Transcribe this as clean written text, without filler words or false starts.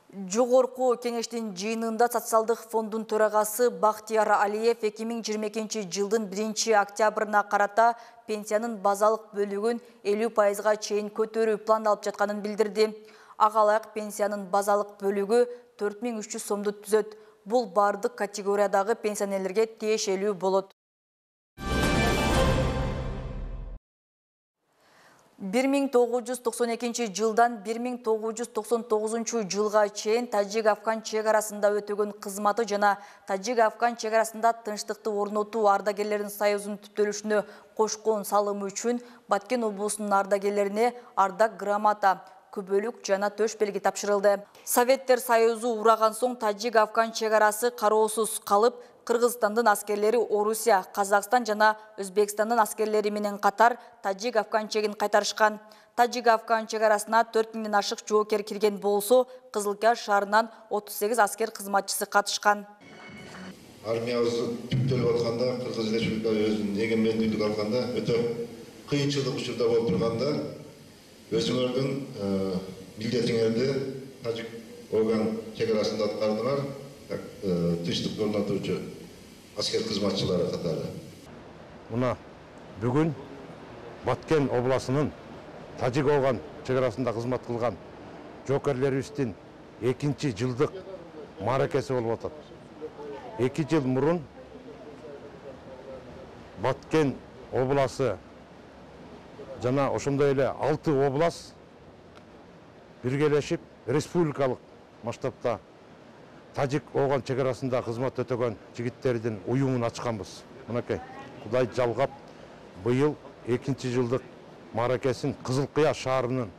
Жогорку кеңештин жыйынында социалдык фондун төрагасы Бактияр Алиев 2022 жылдын 1-октябрына карата пенсиянын базалык бөлүгүн 50%га чейин көтөрүү пландалып жатканын билдирди. Ага ылайык пенсиянын базалык бөлүгү 4300 сомду түзөт. Бул бардык категориядагы пенсионерлерге тиешелүү болот. 1992 жылдан 1999 жылга чейин Тажик-Афган чек арасында өтөгөн кызматы жана Тажик-Афган чек арасында тынчтыкты орнотуу ардагерлеринин союзунун түптөлүшүнө кошкон салымы үчүн Баткен облусунун ардагерлерине ардак грамота, күбөлүк жана төш белги тапшырылды. Советтер Союзу ураган соң Тажик-Афган чек арасы кароосуз калып, Кыргызстандын аскерлери Орусия, Казакстан жана Өзбекстандын аскерлери менен катар Тажик-Афган чегин кайтарышкан. Тажик-Афган чек арасына 4000ден ашык жоокер кирген болсо, Кызылкаш шаарынан 38 аскер кызматчысы катышкан. Армиябыз түптөлүп атканда, Кыргыз Республикасы өзүнүн эгемендүүлүк алганда өтө кыйынчылык учурда болуп турганда, өзүңөрдүн милдетиңерди Тажик-Афган чек арасында аткардыңар. Тынчтык орнотуучу аскер кызматчылары катары. Мына бүгүн Баткен областынын Тажик-Афган чек арасында кызмат кылган жоокерлерибиздин 2 жылдык мааракеси болуп атат. 2 жыл мурун Баткен обласы жана ошондой эле 6 облас биргелешип республикалык масштабта Тажик-Афган чек арасында кызмат өтөгөн жигиттердин уюмун ачканбыз. Мынакей, Кудай жалгап, быйыл 2 жылдык мааракесин Кызылкыя шаарынын